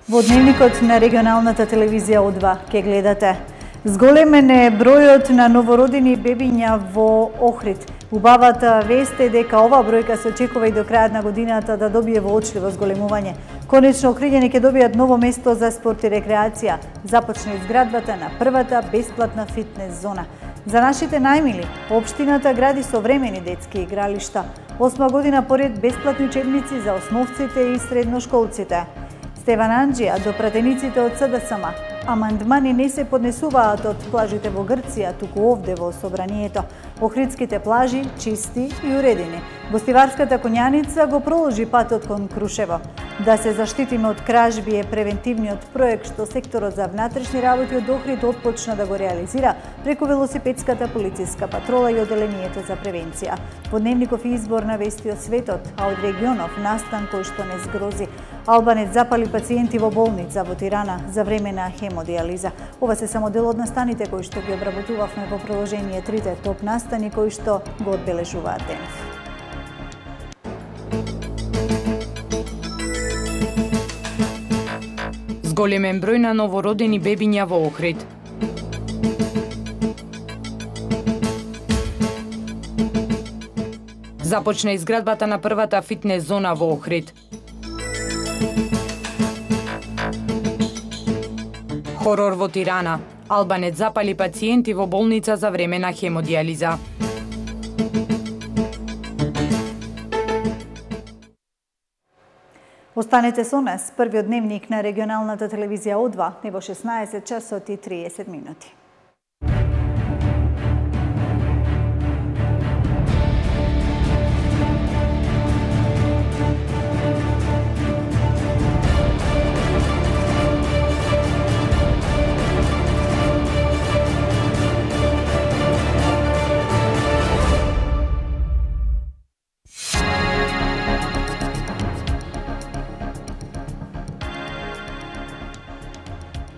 Во дневникот на регионалната телевизија О2 ке гледате: зголемен е бројот на новородени бебиња во Охрид. Убавата вест е дека ова бројка се очекува и до крајот на годината да добие воочливо зголемување. Конечно, Охриѓани ќе добијат ново место за спорт и рекреација. Започна изградбата на првата бесплатна фитнес зона. За нашите најмили, општината гради современи детски игралишта. 8 година поред бесплатни учебници за основците и средношколците. Стеван Анџија до пратениците од СДСМ. Амандмани не се поднесуваат од плажите во Грција, туку овде во Собранието. Охридските плажи чисти и уредени. Гостиварската конјаница го проложи патот кон Крушево. Да се заштитиме од кражби е превентивниот проект што секторот за внатрешни работи од Охрид отпочна да го реализира преку велосипедската полициска патрола и оделението за превенција. Во дневников избор на вести од светот, а од регионов настан кој што не згрози. Албанец запали пациенти во болница во Тирана за време на хемодиализа. Ова се само дел од настаните кои што ги обработувавме во приложение 3 топ настани кои што го одбележуваат денес. Зголемен број на новородени бебиња во Охрид. Започна изградбата на првата фитнес зона во Охрид. Хорор во Тирана. Албанец запали пациенти во болница за време на хемодиализа. Останете со нас, првиот дневник на регионалната телевизија О2 е во 16 часот и 30 минути.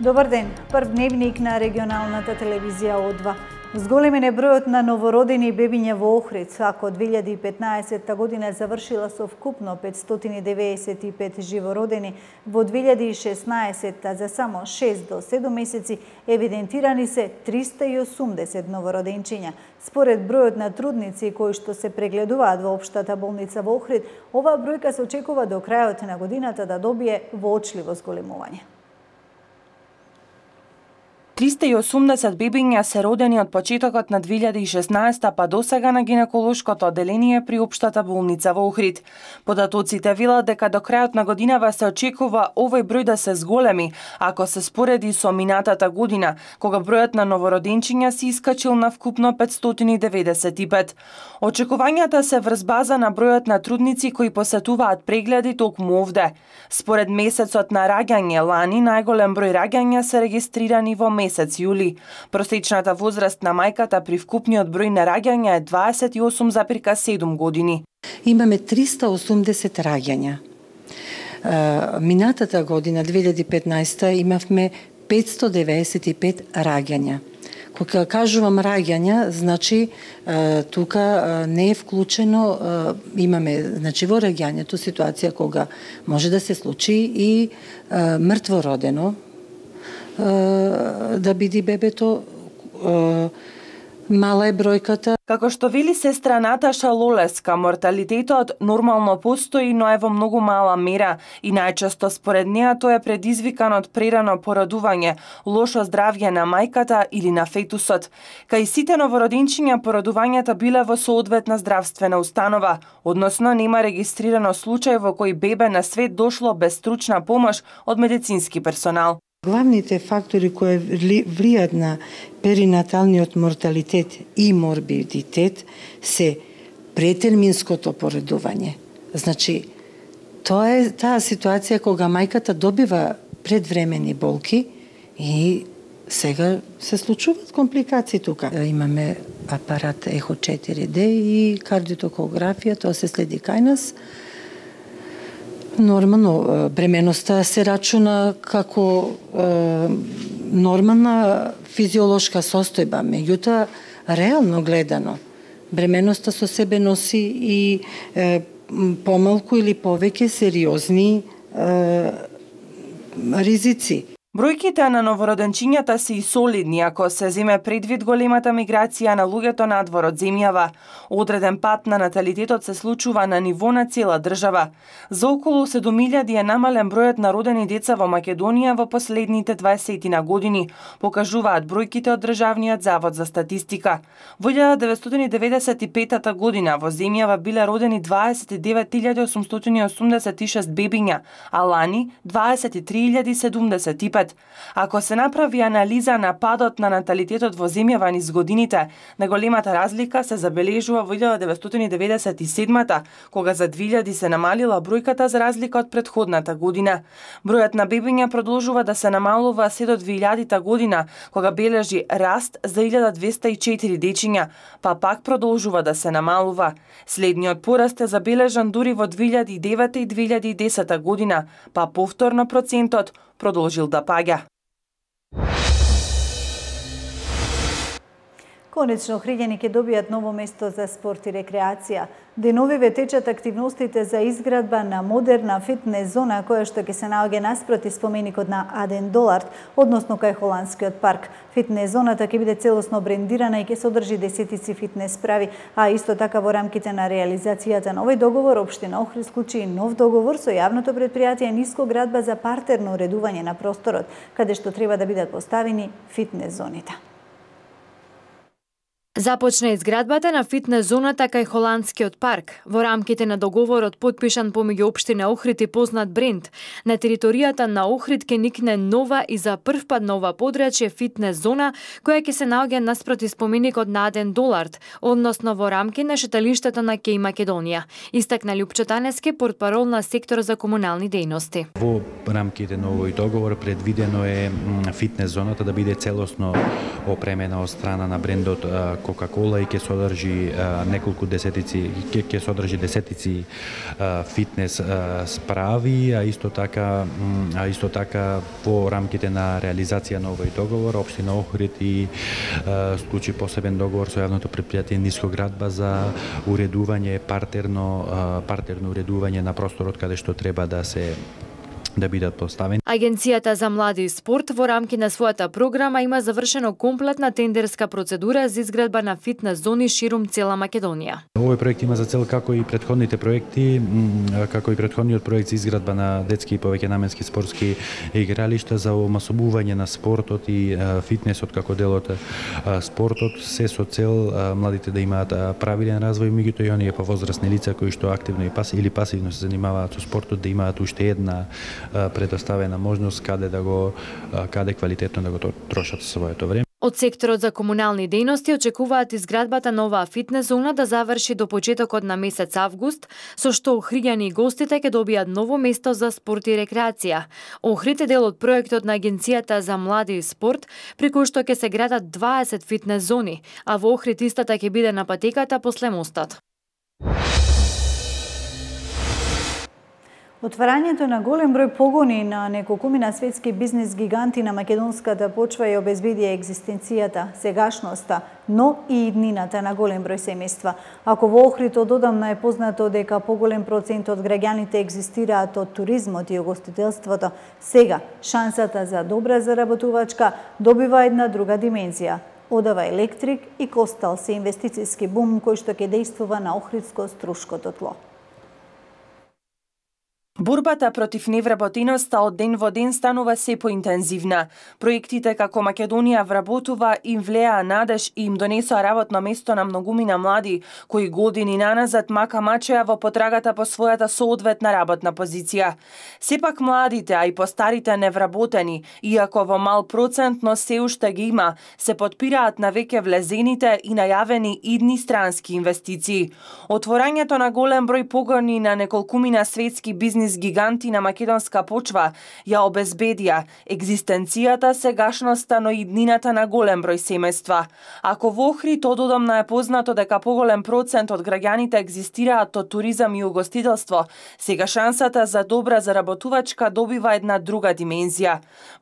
Добар ден, прв дневник на регионалната телевизија О2. Зголемен е бројот на новородени бебиња во Охрид, ако 2015 година завршила со вкупно 595 живородени, во 2016 за само 6 до 7 месеци евидентирани се 380 новороденчиња. Според бројот на трудници кои што се прегледуваат во општата болница во Охрид, оваа бројка се очекува до крајот на годината да добие воочливо зголемување. 380 бебиња се родени од почетокот на 2016 па до сега на гинеколошкото оделение при општата болница во Охрид. Податоците велат дека до крајот на годинава се очекува овој број да се зголеми, ако се спореди со минатата година, кога бројот на новороденчиња се искачил на вкупно 595. Очекувањата се врз база на бројот на трудници кои посетуваат прегледи токму овде. Според месецот на раѓање лани, најголем број раѓања се регистрирани во месец јули. Просечната возраст на мајката при вкупниот број на раѓања е 28,7 години. Имаме 380 раѓања. Минатата година, 2015, имавме 595 раѓања. Кога кажувам раѓања, значи тука не е вклучено, имаме значи во раѓањето ситуација кога може да се случи и мртво родено, да биде бебето, мала е бројката. Како што вели сестра Наташа Лолеска, морталитетот нормално постои, но е во многу мала мера и најчесто според неа тој е предизвикан од прерано породување, лошо здравје на мајката или на фетусот. Кај сите новороденчиња породувањата биле во соодветна здравствена установа, односно нема регистрирано случај во кој бебе на свет дошло без стручна помош од медицински персонал. Главните фактори кои влијат на перинаталниот морталитет и морбидитет се претерминското породување. Значи, тоа е таа ситуација кога мајката добива предвремени болки и сега се случуваат компликации тука. Имаме апарат ехо 4D и кардиотокографија, тоа се следи кај нас. Нормално, бременоста се рачуна како нормална физиолошка состојба, меѓутоа, реално гледано, бременоста со себе носи и помалку или повеќе сериозни ризици. Бројките на новороденчињата се и солидни ако се земе предвид големата миграција на луѓето надвор од земјава. Одреден пат на наталитетот се случува на ниво на цела држава. За околу 7.000 е намален бројот на родени деца во Македонија во последните 20 години, покажуваат бројките од Државниот завод за статистика. Во 1995 година во земјава биле родени 29.886 бебиња, а лани 23.075. Ако се направи анализа на падот на наталитетот во земјава низ годините, најголемата разлика се забележува во 1997-та, кога за 2000 се намалила бројката за разлика од претходната година. Бројот на бебиња продолжува да се намалува се до 2000-та година, кога бележи раст за 1204 дечиња, па пак продолжува да се намалува. Следниот пораст е забележан дури во 2009 и 2010 година, па повторно процентот продолжил да паѓа. Конечно, Охриѓани ќе добијат ново место за спорт и рекреација. Деновиве течат активностите за изградба на модерна фитнес зона која што ќе се наоѓа наспроти споменикот на Аден Долард, односно кај Холандскиот парк. Фитнес зоната ќе биде целосно брендирана и ќе содржи десетици фитнес прави, а исто така во рамките на реализацијата на овој договор општина Охрид склучи нов договор со јавното претпријатие Ниско градба за партерно уредување на просторот, каде што треба да бидат поставени фитнес зоните. Започна изградбата на фитнес зоната кај Холандскиот парк. Во рамките на договорот подпишан помеѓу општина Охрид и познат бренд, на територијата на Охрид ќе никне нова и за прв пат нова подрачје фитнес зона која ќе се наоѓа наспроти споменикот на Аден Долард, односно во рамки на шеталиштето на Кеј Македонија, истакна Љупчо Танески, портпарол на сектор за комунални дејности. Во рамките на овој договор предвидено е фитнес зоната да биде целосно опремена од страна на брендот Кока-кола и ќе содржи неколку десетици, ќе содржи десетици фитнес справи, а исто така во рамките на реализација на овој договор општина Охрид и склучи посебен договор со јавното претпријатие Ниско градба за уредување партерно уредување на просторот каде што треба да бидат поставени. Агенцијата за млади и спорт во рамки на својата програма има завршено комплетна тендерска процедура за изградба на фитнес зони ширум цела Македонија. Овој проект има за цел како и претходните проекти, како и претходниот проект за изградба на детски и повеќенаменски спортски игралишта за омасобување на спортот и фитнесот како дел од спортот, се со цел младите да имаат правилен развој, меѓутоа и оние повозрасни лица кои што активно или пасивно се занимаваат со спортот да имаат уште една предоставена можност каде квалитетно да го трошат своето време. Од секторот за комунални дејности очекуваат изградбата на оваа фитнес зона да заврши до почетокот на месец август, со што Охриѓани и гостите ќе добијат ново место за спорт и рекреација. Охрид е дел од проектот на Агенцијата за млади и спорт, при кој што ќе се градат 20 фитнес зони, а во Охрид истата ќе биде на патеката после мостот. Отварањето на голем број погони на неколкумина светски бизнис гиганти на македонската почва ја обезбеди екзистенцијата, сегашноста, но и иднината на голем број семејства. Ако во Охрид одамна е познато дека поголем процент од граѓаните екзистираат од туризмот и угостителството, сега шансата за добра заработувачка добива една друга димензија. Одава Електрик и Костал се инвестицијски бум кој што ќе дејствува на охридско-струшкото тло. Борбата против невработеноста од ден во ден станува се поинтензивна. Проектите како Македонија вработува им влеа надеж и им донесоа работно место на многумина млади, кои години наназад мака мачеа во потрагата по својата соодветна работна позиција. Сепак младите, а и постарите невработени, иако во мал процент, но се уште ги има, се подпираат на веќе влезените и најавени идни странски инвестиции. Отворањето на голем број погони на неколкумина светски бизнис гиганти на македонска почва ја обезбедија екзистенцијата, сегашноста, но и иднината на голем број семејства. Ако во Охрид одамна е познато дека поголем процент од граѓаните екзистираат од туризам и угостителство, сега шансата за добра заработувачка добива една друга димензија.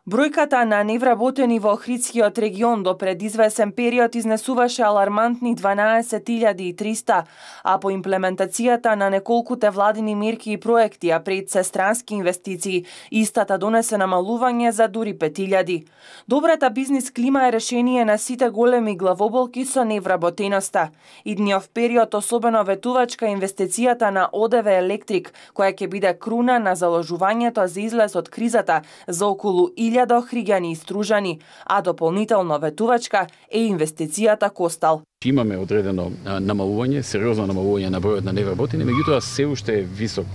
Бројката на невработени во Охридскиот регион до пред извесен период изнесуваше алармантни 12.300, а по имплементацијата на неколкуте владини мерки и проекти, а пред се странски инвестиции, истата донесе намалување за дури 5000. Добрата бизнис клима е решение на сите големи главоболки со невработеноста. Идниот период особено ветувачка инвестицијата на ОДВ Електрик, која ќе биде круна на заложувањето за излез од кризата за околу 1000 охриѓани и стружани, а дополнително ветувачка е инвестицијата Костал. Имаме одредено намалување, сериозно намалување на бројот на невработени, меѓутоа се уште е висок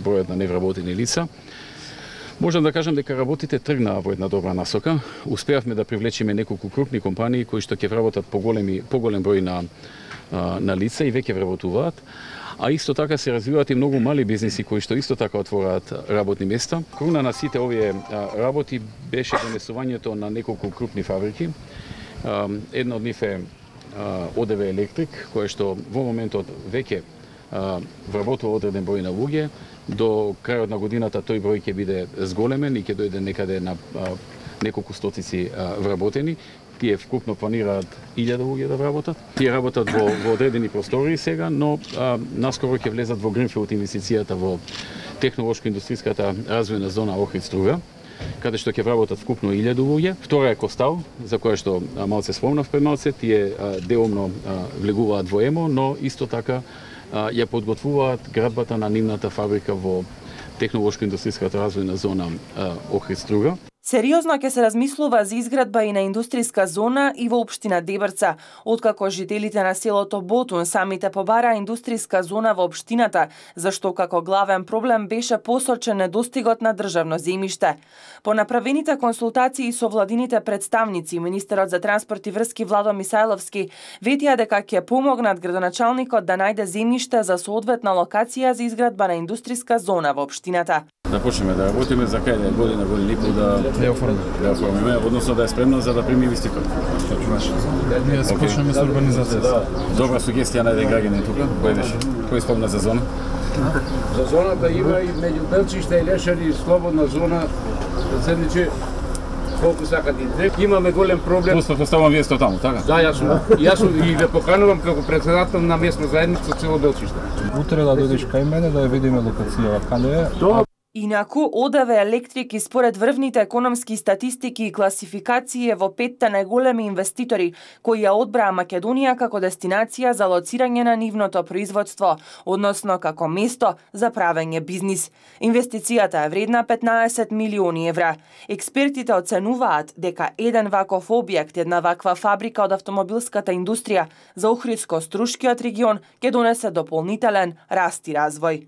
бројот на невработени лица. Можам да кажам дека работите тргнаа во една добра насока. Успеавме да привлечеме неколку крупни компании кои што ќе вработат поголем број на лица и веќе вработуваат. А исто така се развиваат и многу мали бизниси кои што исто така отвораат работни места. Круна на сите овие работи беше донесувањето на неколку крупни фабрики. Една од нив е ОДВ Електрик, која што во моментот веќе вработува одреден број на луѓе. До крајот на годината тој број ќе биде зголемен и ќе дојде некаде на неколку стотици вработени. Тие вкупно планираат 1000 луѓе да вработат. Тие работат во одредени простори сега, но наскоро ќе влезат во гринфилд инвестицијата во технолошко-индустријската развојна зона Охрид Струга, каде што ќе вработат вкупно 1000 луѓе. Втора е Костал, за која што малце спомнав пред малце, тие деломно влегуваат во ЕМО, но исто така ја подготвуваат градбата на нивната фабрика во технолошко-индустријската развојна зона Охрид Струга. Сериозно ќе се размислува за изградба и на индустријска зона и во општина Дебрца, откако жителите на селото Ботун самите побараа индустријска зона во општината, зашто како главен проблем беше посочен недостигот на државно земјиште. По направените консултации со владините представници, министерот за транспорт и врски Владо Мисајловски ветија дека ќе помогнат градоначалникот да најде земјиште за соодветна локација за изградба на индустријска зона во општината. Да почнеме да работиме за кај година и пол да оформиме, односно да е спремна за да прими инвеститор. Ние почнеме со урбанизација. Добра сугестија на еден граѓанин тука. Кој беше? Кој спомна за зона? За зоната има и меѓу Белчиште и Лешари слободна зона, седниче колку сакат и имаме голем проблем. Поставам вие сте таму, така? Да, јас сум и ве поканувам како претседател на местна заедница цело Белчиште. Утре да дојдеш кај мене да ја видиме локацијава каде е. Инаку, ОДВ Електрик и според врвните економски статистики и класификации е во 5-та најголеми инвеститори кои ја одбраа Македонија како дестинација за лоцирање на нивното производство, односно како место за правење бизнис. Инвестицијата е вредна 15 милиони евра. Експертите оценуваат дека еден ваков објект, една ваква фабрика од автомобилската индустрија за Охридско-Струшкиот регион ќе донесе дополнителен раст и развој.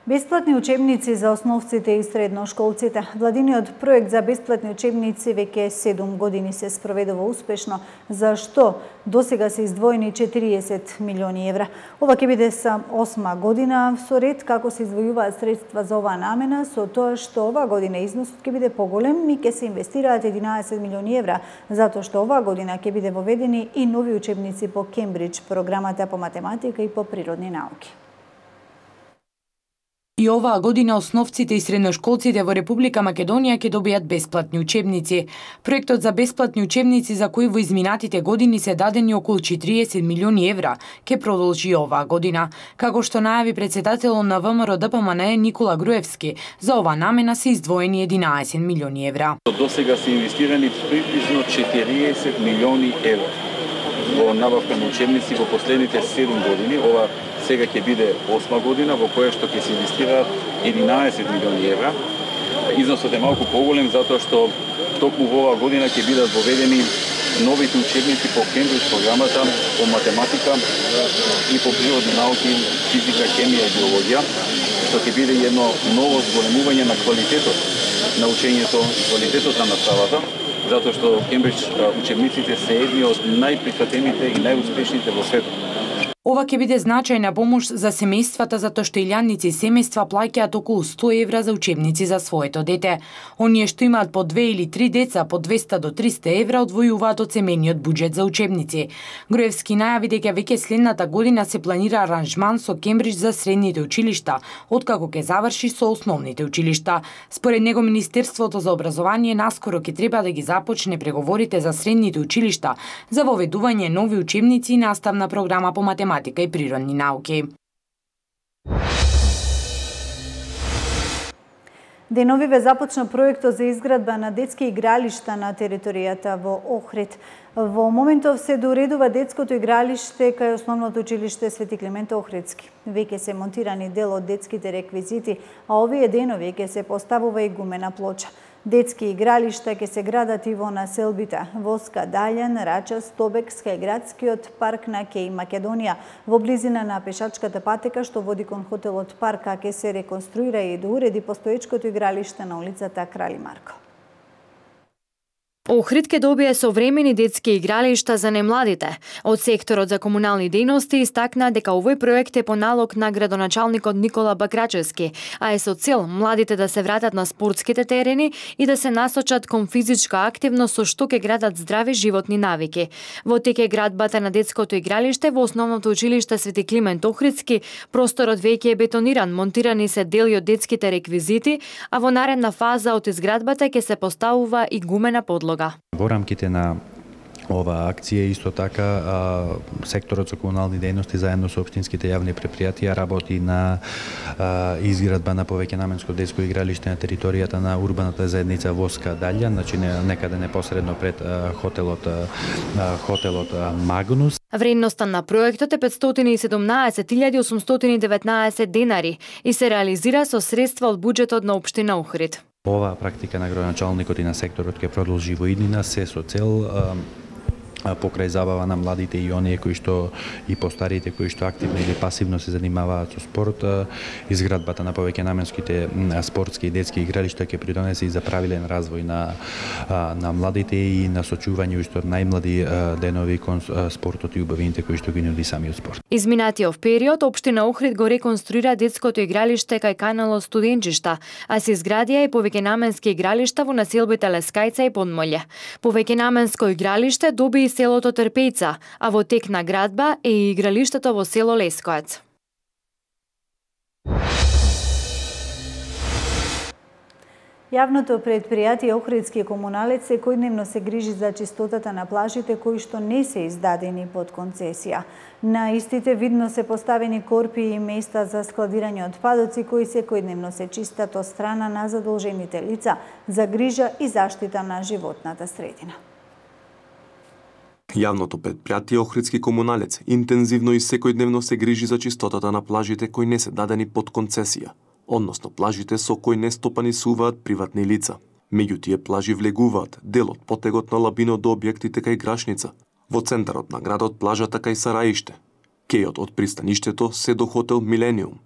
Бесплатни учебници за основците и средношколците. Владиниот проект за бесплатни учебници веќе 7 години се спроведува успешно, за што досега се издвоени 40 милиони евра. Ова ќе биде сам 8 година со ред како се издвојуваат средства за оваа намена, со тоа што оваа година износот ќе биде поголем и ќе се инвестираат 11 милиони евра, затоа што оваа година ќе биде воведени и нови учебници по Кембридж, програмата по математика и по природни науки. И оваа година основците и средношколците во Република Македонија ќе добијат бесплатни учебници. Проектот за бесплатни учебници за кои во изминатите години се дадени околу 40 милиони евра ќе продолжи оваа година. Како што најави претседателот на ВМРО ДПМН Никола Груевски, за оваа намена се издвоени 11 милиони евра. До сега се инвестирани приближно 40 милиони евра во набавка на учебници во последните 7 години. Ова сега ќе биде 8 година во која што ќе се инвестираат 11 милиони евра. Износот е малку поголем затоа што токму во оваа година ќе бидат воведени новите учебници по Кембридж програмата по математика и по природни науки, физика, хемија и биологија, што ќе биде едно ново зголемување на квалитетот на учењето, квалитетот на наставата, затоа што Кембридж учебниците се едни од најприфатените и најуспешните во светот. Ова ќе биде значајна помош за семејствата затоа што илјадници семејства плаќаат околу 100 евра за учебници за своето дете. Оние што имаат по 2 или 3 деца по 200 до 300 евра одвојуваат од семејниот буџет за учебници. Груевски најави дека веќе следната година се планира аранжман со Кембридж за средните училишта, откако ќе заврши со основните училишта. Според него Министерството за образование наскоро ќе треба да ги започне преговорите за средните училишта за воведување нови учебници и наставна програма по математика математика и природни науки. Деновиве започна проектот за изградба на детски игралишта на територијата во Охрид. Во моментов се доредува детското игралиште кај основното училиште Свети Климент Охридски. Веќе се монтирани дел од детските реквизити, а овие денови ќе се поставува и гумена плоча. Детски игралишта ќе се градат и во населбите Воска, Далјан, Рача, Стобек, кај градскиот парк на Кеј Македонија, во близина на пешачката патека што води кон хотелот Парка, ќе се реконструира и доуреди постоечкото игралиште на улицата Крали Марко. Охрид ќе добие современи детски игралишта за немладите. Од секторот за комунални дејности истакна дека овој проект е по налог на градоначалникот Никола Бакрачевски, а е со цел младите да се вратат на спортските терени и да се насочат кон физичка активност со што ќе градат здрави животни навики. Во тек е градбата на детското игралиште во основното училиште Свети Климент Охридски. Просторот веќе е бетониран, монтирани се дели од детските реквизити, а во наредна фаза од изградбата ќе се поставува и гумена подлога. Во рамките на ова акција исто така секторот за комунални дејности заедно со општинските јавни предпријатија работи на изградба на повеќенаменско детско игралиште на територијата на урбаната заедница Воска Далјан, значи некаде непосредно пред хотелот Магнус. Вредноста на проектот е 517.819 денари и се реализира со средства од буџетот на општина Охрид. Ова практика на градоначалникот и на секторот ќе продолжи во иднина се со цел покрај забава на младите и оние кои што и постарите кои што активно или пасивно се занимаваат со спорт, изградбата на повеќенаменските спортски и детски игралишта ќе придонесе и за правилен развој на младите и насочување уште од најмлади денови кон спортот и убавините кои што ги нуди самиот спорт. Изминатиот период општина Охрид го реконструира детското игралиште кај каналот Студенчишта, а се изградија и повеќенаменски игралишта во населбите Лескајца и Подмолје. Повеќенаменско игралиште доби и селото Трпејца, а во тек на градба е и игралиштето во село Лескојац. Јавното предпријатие Охридски комуналец секојдневно се грижи за чистотата на плажите кои што не се издадени под концесија. На истите видно се поставени корпи и места за складирање отпадоци кои секојдневно се чистат од страна на задолжените лица за грижа и заштита на животната средина. Јавното предпријатие Охридски комуналец интензивно и секојдневно се грижи за чистотата на плажите кои не се дадени под концесија, односно плажите со кои не стопанисуваат приватни лица. Меѓу тие плажи влегуваат дел од потегот на Лабино до објектите кај Грашница, во центарот на градот плажата кај Сараиште, кејот од пристаништето се до хотел Милениум,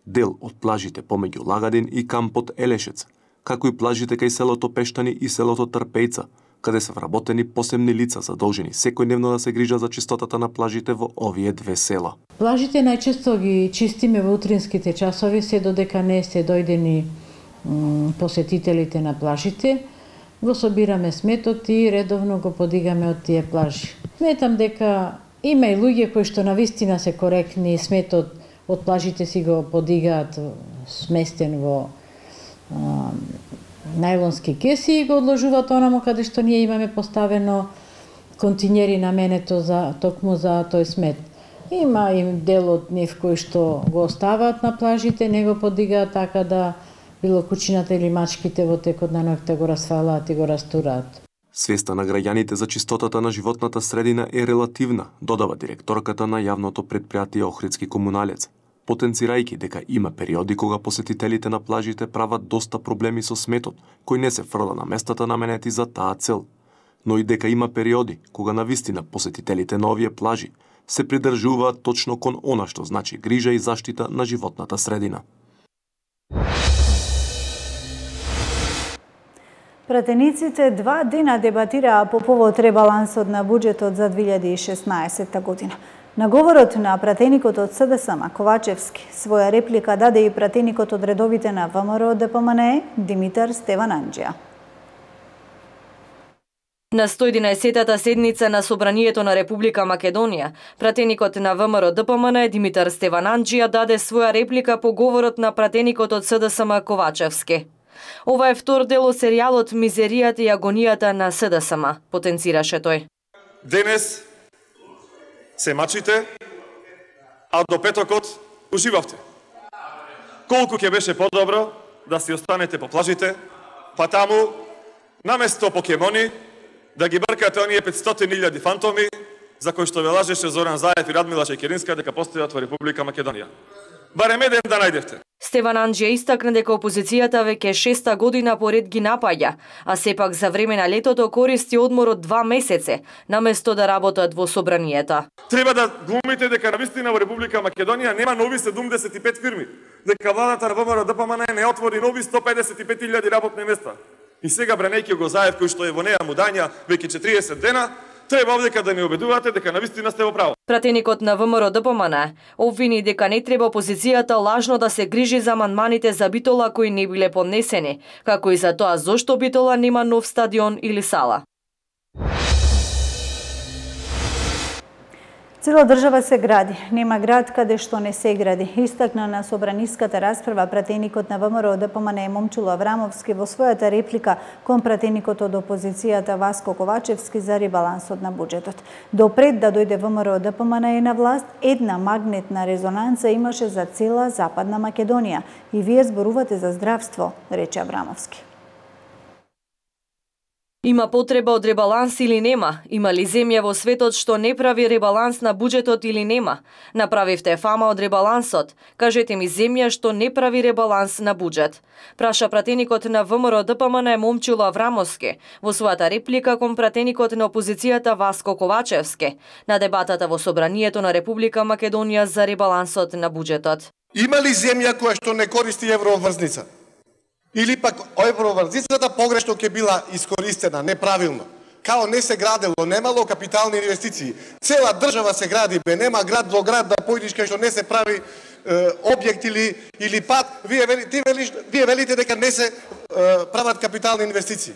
дел од плажите помеѓу Лагадин и кампот Елешец, како и плажите кај селото Пештани и селото Трпејца, каде се вработени посебни лица задолжени секојдневно да се грижат за чистотата на плажите во овие две села. Плажите најчесто ги чистиме во утринските часови, се додека не се дојдени посетителите на плажите, го собираме сметот и редовно го подигаме од тие плажи. Сметам дека има и луѓе кои што навистина се коректни, сметот од плажите си го подигаат сместен во најлонски кеси и го одложуваат онамо каде што ние имаме поставено континери наменето за токму за тој смет. Има и дел од нив кои што го оставаат на плажите, не го подигаат така да било кучината или мачките во текот на ноќта го расфалаат и го растураат. Свеста на граѓаните за чистотата на животната средина е релативна, додава директорката на јавното предпријатие Охридски комуналец, потенцирајќи дека има периоди кога посетителите на плажите прават доста проблеми со сметот, кој не се фрла на местата наменети за таа цел, но и дека има периоди кога навистина посетителите на овие плажи се придржуваат точно кон она што значи грижа и заштита на животната средина. Пратениците 2 дена дебатираа по повод ребалансот на буџетот за 2016 година. На говорот на пратеникот од СДСМ Ковачевски своја реплика даде и пратеникот од редовите на ВМРО ДПМНЕ Димитар Стевананџија. На 111-та седница на Собранието на Република Македонија, пратеникот на ВМРО ДПМНЕ Димитар Стевананџија даде своја реплика по говорот на пратеникот од СДСМ Ковачевски. Ова е втор дел од серијалот Мизеријата и агонијата на СДСМ, потенцираше тој. Денес се мачите, а до петокот уживавте. Колку ќе беше подобро да си останете по плажите, па таму, наместо покемони, да ги бркате оние 500.000 фантоми, за кои што ве лажеше Зоран Заев и Радмила Чекеринска дека постојат во Република Македонија. Барем еден да најдевте. Стеван Анџија истакна дека опозицијата веќе 6-та година поред ги напаѓа, а сепак за време на летото користи одмор од 2 месеци, наместо да работат во собранието. Треба да глумите дека навистина во Република Македонија нема нови 75 фирми, дека владата на ВМРО ДПМН не отвори нови 155.000 работни места. И сега бранејќи го Заев кој што е во неа мудања веќе 40 дена, треба овдека да не убедувате дека навистина сте во право. Пратеникот на ВМРО ДПМН обвини дека не треба опозицијата лажно да се грижи за амандманите за Битола кои не биле поднесени, како и за тоа зошто Битола нема нов стадион или сала. Цела држава се гради, нема град каде што не се гради. Истакна на собраниската расправа пратеникот на ВМРО ДПМН Момчило Аврамовски во својата реплика кон пратеникот од опозицијата Васко Ковачевски за ребалансот на буџетот. Допред да дојде ВМРО ДПМН на власт, една магнетна резонанца имаше за цела Западна Македонија. И вие зборувате за здравство, рече Аврамовски. Има потреба од ребаланс или нема? Има ли земја во светот што не прави ребаланс на буџетот или нема? Направивте фама од ребалансот. Кажете ми земја што не прави ребаланс на буџет. Праша пратеникот на ВМРО ДПМН Момчило Аврамовски во својата реплика кон пратеникот на опозицијата Васко Ковачевски на дебатата во Собранието на Република Македонија за ребалансот на буџетот. Има ли земја која што не користи евроврзница? Или пак евроврзницата погрешно ќе била искористена, неправилно. Као не се градело, немало капитални инвестиции. Цела држава се гради, бе, нема град до град да појдиш кај што не се прави објект или пат. Вие велите дека не се прават капитални инвестиции.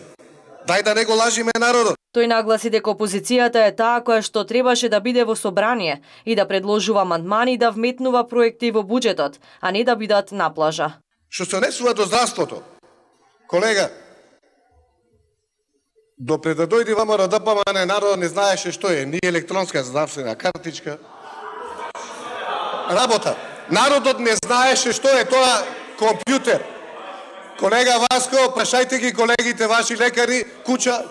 Дај да не го лажиме народот. Тој нагласи дека опозицијата е таа која што требаше да биде во собрание и да предложува амандмани да вметнува проекти во буџетот, а не да бидат на плажа. Што се однесува до здравството, колега, допред да дојде ВМРО ДПМН, народот не знаеше што е, ни електронска здравствена картичка. Работа. Народот не знаеше што е тоа компјутер. Колега Васко, прашајте ги колегите ваши лекари, куќа,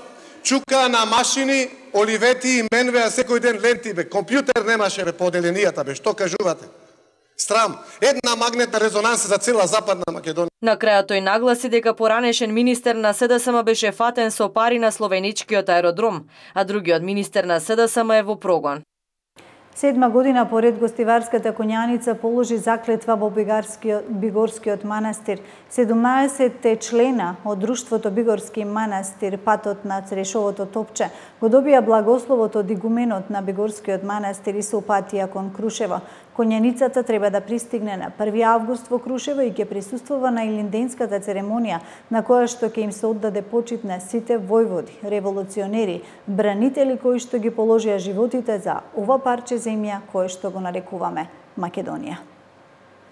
чука на машини, оливети и менвеа секој ден ленти, бе. Компјутер немаше, бе, по оделенијата, бе. Што кажувате? Страм. Една магнетна резонанса за цела Западна Македонија. На крајот тој нагласи дека поранешен министер на СДСМ беше фатен со пари на словеничкиот аеродром, а другиот министер на СДСМ е во прогон. 7 година поред гостиварската конјаница положи заклетва во Бигорскиот манастир. 17 члена од Друштвото Бигорски манастир, патот на Црешовото топче, го добија благословот од игуменот на Бигорскиот манастир и се упатија кон Крушево. Конјаницата треба да пристигне на 1 август во Крушево и ќе присуствува на илинденската церемонија, на која што ќе им се оддаде почит на сите војводи, револуционери, бранители кои што ги положија животите за ова парче земја кое што го нарекуваме Македонија.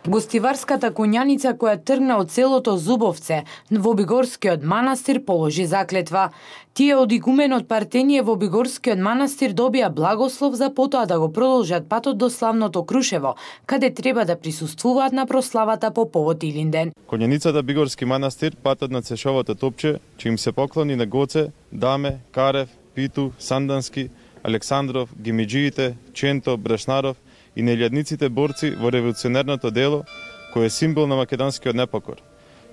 Гостиварската конјаница која тргна од селото Зубовце во Бигорскиот манастир положи заклетва. Тие од игуменот Партенije во Бигорскиот манастир добија благослов за потоа да го продолжат патот до славното Крушево, каде треба да присуствуваат на прославата по повод Илинден. Конјаницата Бигорски манастир, патот на Цешовото топче, че им се поклони на Гоце, Даме, Карев, Питу, Сандански, Александров, Гимиджиите, Ченто, Брашнаров и нејлјадниците борци во револуционерното дело, кој е символ на македонскиот непокор.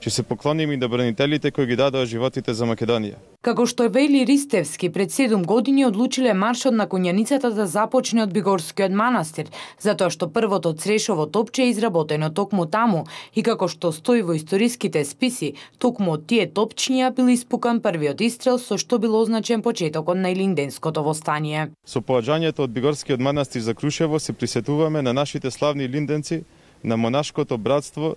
Че се поклоним и на бранителите кои ги дадоа животите за Македонија. Како што вели Ристевски, пред 7 години одлучиле маршот на конјаницата да започне од Бигорскиот манастир, затоа што првото Црешово топче е изработено токму таму и како што стои во историските списи, токму од тие топчиња бил испукан првиот истрел со што бил означен почетокот на Илинденското востание. Со поаѓањето од Бигорскиот манастир за Крушево се присетуваме на нашите славни илинденци, на монашкото братство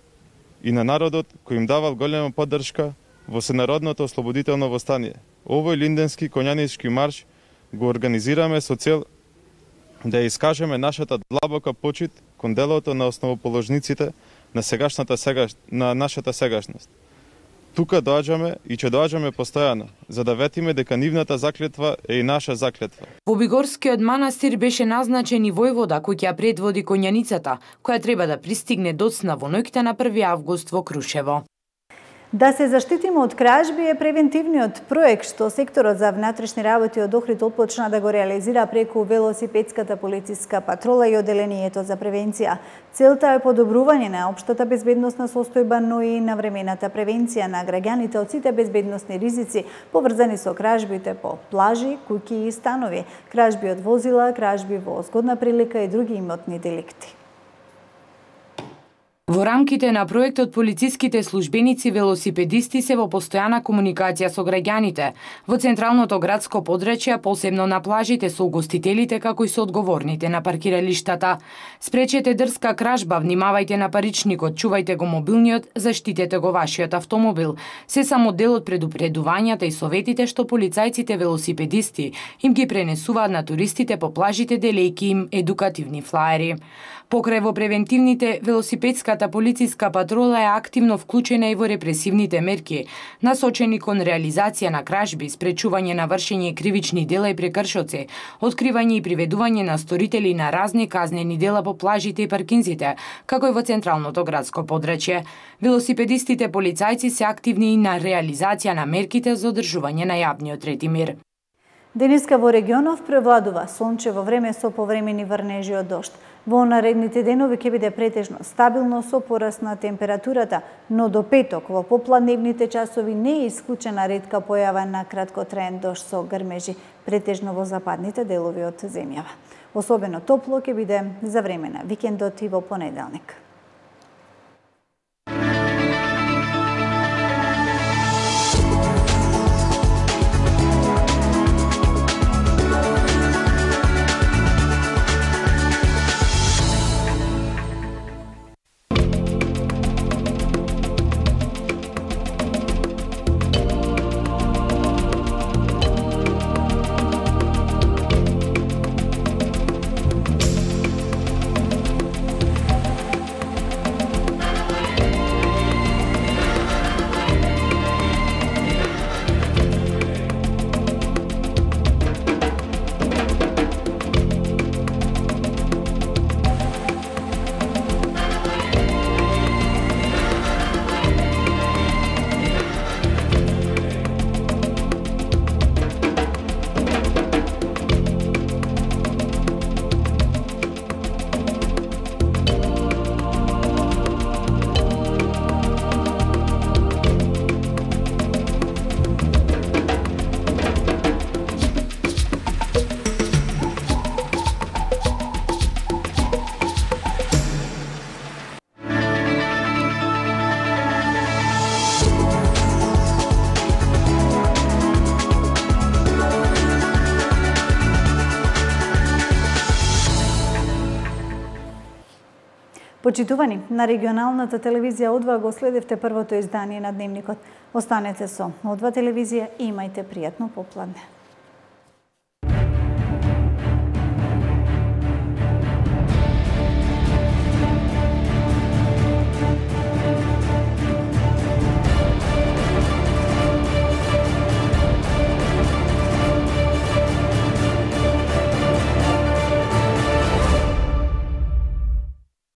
и на народот кој им давал голема поддршка во сенародното ослободително востание. Овој линденски конјанички марш го организираме со цел да ја искажеме нашата длабока почит кон делото на основоположниците на нашата сегашност. Тука доаѓаме и ќе доаѓаме постојано, за да ветиме дека нивната заклетва е и наша заклетва. Во Бигорскиот манастир беше назначен и војвода кој ќе ја предводи конјаницата, која треба да пристигне доцна во ноќта на 1 август во Крушево. Да се заштитиме од кражби е превентивниот проект што секторот за внатрешни работи од Охрид отпочна да го реализира преку велосипедската полициска патрола и оделението за превенција. Целта е подобрување на општата безбедносна состојба, но и навремената превенција на граѓаните од сите безбедносни ризици поврзани со кражбите по плажи, куќи и станови, кражби од возила, кражби во згодна прилика и други имотни деликти. Во рамките на проектот полициските службеници велосипедисти се во постојана комуникација со граѓаните во централното градско подрачје, посебно на плажите со угостителите како и со одговорните на паркиралиштата. Спречете дрска кражба, внимавајте на паричникот, чувајте го мобилниот, заштитете го вашиот автомобил. Се само дел од предупредувањата и советите што полицајците велосипедисти им ги пренесуваат на туристите по плажите делејки им едукативни флаери. Покрај во превентивните, велосипедската полициска патрола е активно вклучена и во репресивните мерки, насочени кон реализација на кражби, спречување на вршење кривични дела и прекршоци, откривање и приведување на сторители на разни казнени дела по плажите и паркинзите, како и во централното градско подрачје. Велосипедистите полицајци се активни и на реализација на мерките за одржување на јавниот ред и мир. Денеска во регионов превладува сончево време со повремени врнежи од дожд. Во наредните денови ќе биде претежно стабилно со пораст на температурата, но до петок во попладневните часови не е исклучена ретка појава на краткотраен дожд со грмежи, претежно во западните делови од земјава. Особено топло ќе биде за време на викендот и во понеделник. Почитувани, на регионалната телевизија Одва го следевте првото издание на Дневникот. Останете со Одва телевизија и имајте пријатно попладне.